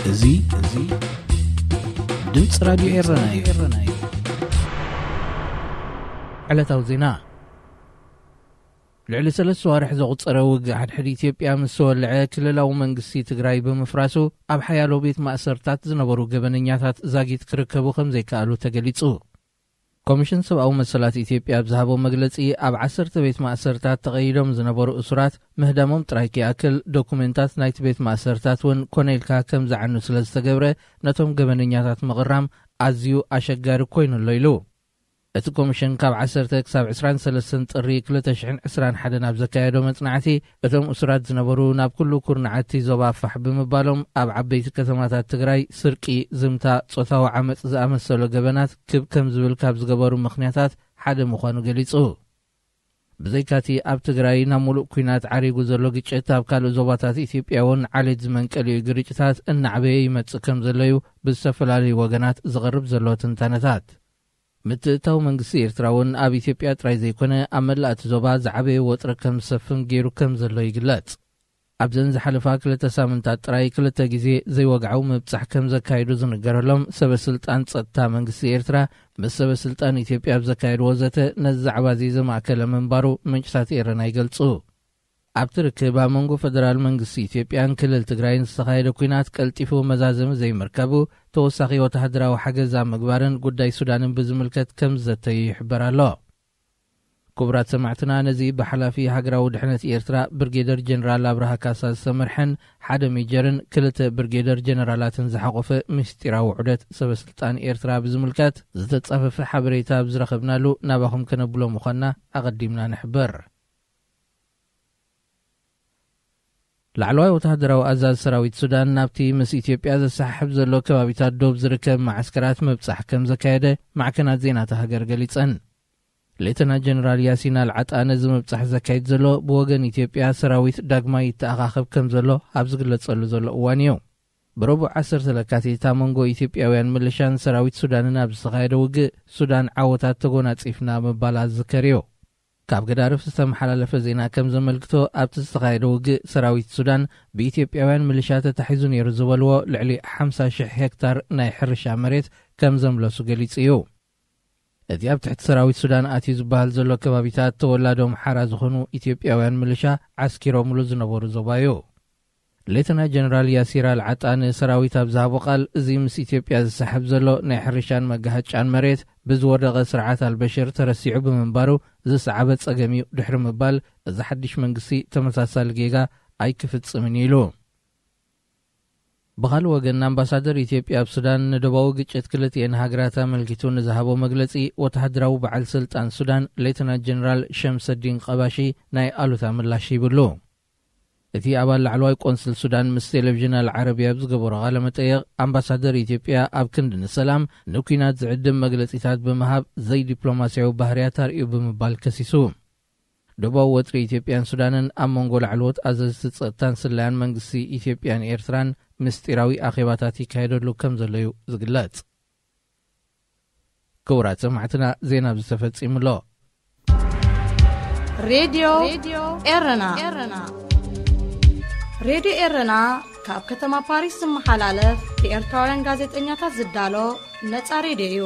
እዚ፣ እዚ ድምፂ ራዲዮ ኤረና እዩ። ዕለታዊ ዜና። ልዕሊ ሰለስተ ዋርሕ ዘቑጸረ ውግእ ሓድሕድ ኢትዮጵያ ምስ ተወልዐ፣ ክልላዊ መንግስቲ ትግራይ ብምፍራሱ፣ ኣብ ሓያሎ ቤት ማእሰርታት ዝነበሩ ገበነኛታት ዛጊት ክርከቡ ከም ዘይከኣሉ ተገሊጹ። ኮሚሽን ሰብኣዊ መሰላት ኢትዮጵያ ኣብ ዝሃቦ መግለጺ፣ ኣብ ዓሰርተ ቤት ማእሰርታት ተቐይዶም ዝነበሩ እሱራት ምህዳሞም ጥራይ ከይኣክል፣ ዶኩሜንታት ናይቲ ቤት ማእሰርታት እውን ኮነ ኢልካ ከም ዝዓኑ ስለ ዝተገብረ፣ ነቶም ገበነኛታት ምቕራም ኣዝዩ ኣሸጋሪ ኮይኑ ኣሎ ኢሉ። እቲ ኮሚሽን ካብ ዓሰርተ ክሳብ ዕስራን ሰለስተን ጥሪ ክልተ ሽሕን ዕስራን ሓደን ኣብ ዘካየዶ መጽናዕቲ፣ እቶም እሱራት ዝነበሩ ናብ ኩሉ ኩርናዓት እቲ ዞባ ፋሕ ብምባሎም፣ ኣብ ዓበይቲ ከተማታት ትግራይ ስርቂ፣ ዝምታ፣ ጾታዊ ዓመጽ ዝኣመሰሉ ገበናት ክብ ከም ዝብል ካብ ዝገበሩ ምኽንያታት ሓደ ምዃኑ ገሊጹ። ብዘይካቲ ኣብ ትግራይ ናብ ሙሉእ ኲናት ዓሪጉ ዘሎ ግጭት፣ ኣብ ካልእ ዞባታት ኢትዮጵያ እውን ዓሌት ዝመንቀሊኡ ግርጭታት እናዕበየ ይመጽእ ከም ዘሎ እዩ ብዝተፈላለዩ ወገናት ዝቐርብ ዘሎ ትንታነታት። ምትእትታው መንግስቲ ኤርትራ እውን ኣብ ኢትዮጵያ ጥራይ ዘይኮነ፣ ኣብ መላእ እቲ ዞባ ዝዓበየ ወጥሪ ከም ዝሰፍን ገይሩ ከም ዘሎ ይግለጽ። ኣብዘን ዝሓለፋ ክልተ ሳምንታት ጥራይ ክልተ ግዜ ዘይወግዓዊ ምብጻሕ ከም ዘካየዱ ዝንገረሎም ሰበ ስልጣን ጸጥታ መንግስቲ ኤርትራ፣ ምስ ሰበ ስልጣን ኢትዮጵያ ኣብ ዘካየድዎ ዘተ፣ ነዚ ዛዕባ እዚ ዘማእከለ ምንባሩ ምንጭታት ኤረና ይገልጹ። ኣብቲ ርክብ፣ ኣብ መንጎ ፈደራል መንግስቲ ኢትዮጵያን ክልል ትግራይን ዝተኻየደ ኲናት ቀልጢፉ መዛዘሚ ዘይምርካቡ፣ ተወሳኺ ወተሃደራዊ ሓገዝ ኣብ ምግባርን ጉዳይ ሱዳንን ብዝምልከት ከም ዝዘተዩ ይሕበር ኣሎ። ክቡራት ሰማዕትና፣ ነዚ ብሓላፊ ሃገራዊ ድሕነት ኤርትራ ብርጌደር ጀነራል ኣብርሃ ካሳ ዝተመርሐን ሓደ ሜጀርን ክልተ ብርጌደር ጀነራላትን ዝሓቖፈ ምስጢራዊ ዑደት ሰበ ስልጣን ኤርትራ ብዝምልከት ዝተጻፈፈ ሓበሬታ ኣብ ዝረኸብናሉ ናባኹም ከነብሎ ምዃንና ኣቐዲምና ንሕብር። ላዕለዋይ ወተሃደራዊ ኣዛዚ ሰራዊት ሱዳን ናብቲ ምስ ኢትዮጵያ ዘሰሓሕብ ዘሎ ከባቢታት ዶብ ዝርከብ መዓስከራት ምብጻሕ ከም ዘካየደ ማዕከናት ዜና እታ ሃገር ገሊጸን። ሌተና ጀነራል ያሲን ኣልዓጣ ነዚ ምብጻሕ ዘካይድ ዘሎ ብወገን ኢትዮጵያ ሰራዊት ዳግማይ ይተኣኻኸብ ከም ዘሎ ኣብ ዝግለጸሉ ዘሎ እዋን እዩ። ብረቡዕ ዓሰርተ ለካቲት ኣብ መንጎ ኢትዮጵያውያን ምልሻን ሰራዊት ሱዳንን ኣብ ዝተኻየደ ውግእ ሱዳን ዓወታት ተጎናጺፍና ምባላ ዝዝከር እዩ። ካብ ገዳርፍ ዝተመሓላለፈ ዜና ከም ዘመልክቶ፣ ኣብቲ ዝተኻየደ ውግእ ሰራዊት ሱዳን ብኢትዮጵያውያን ምልሻ ተታሒዙ ነይሩ ዝበልዎ ልዕሊ ሓምሳ ሽሕ ሄክታር ናይ ሕርሻ መሬት ከም ዘምለሱ ገሊጹ እዩ። እቲ ኣብ ትሕቲ ሰራዊት ሱዳን ኣትዩ ዝበሃል ዘሎ ከባቢታት ተወላዶ ኣምሓራ ዝኾኑ ኢትዮጵያውያን ምልሻ ዓስኪሮምሉ ዝነበሩ ዞባ እዩ። ሌተና ጀነራል ያሲር ኣልዓጣ ንሰራዊት ኣብ ዝሃቦ ቃል፣ እዚ ምስ ኢትዮጵያ ዝሰሓብ ዘሎ ናይ ሕርሻን መጋሃጫን መሬት ብዝወደቐ ስርዓት ኣልበሽር ተረሲዑ ብምንባሩ ዝሰዓበ ጸገም እዩ ድሕሪ ምባል፣ እዚ ሓድሽ መንግስቲ ተመሳሳሊ ጌጋ ኣይክፍጽምን ኢሉ። ብኻልእ ወገን፣ ኣምባሳደር ኢትዮጵያ ኣብ ሱዳን ንደባዊ ግጭት ክልቲኤን ሃገራት ኣመልኪቱ ንዝሃቦ መግለጺ፣ ወተሃደራዊ በዓል ስልጣን ሱዳን ሌተና ጀነራል ሸምሰዲን ቀባሺ ናይ ኣሉታ ምላሽ ሂብሉ። እቲ ኣባል ላዕለዋይ ቆንስል ሱዳን ምስ ቴሌቪዥን ኣልዓረብያ ኣብ ዝገበሮ ቃለ መጠየቕ፣ ኣምባሳደር ኢትዮጵያ ኣብ ክንዲ ንሰላም፣ ንኲናት ዝዕድም መግለጺታት ብምሃብ ዘይዲፕሎማስያዊ ባህርያት ኣርእዩ ብምባል ከሲሱ። ደቡባዊ ወጥሪ ኢትዮጵያን ሱዳንን ኣብ መንጎ ላዕለዎት ኣዘዝቲ ጸጥታን ስለያን መንግስቲ ኢትዮጵያን ኤርትራን ምስጢራዊ ኣኼባታት ይካየደሉ ከም ዘሎ እዩ ዝግለጽ። ክቡራት ሰማዕትና፣ ዜና ኣብዚ ተፈጺሙ ኣሎ። ሬድዮ ኤረና። ሬድዮ ኤረና ካብ ከተማ ፓሪስ ዝመሓላለፍ ብኤርትራውያን ጋዜጠኛታት ዝዳሎ ነጻ ሬድዮ እዩ።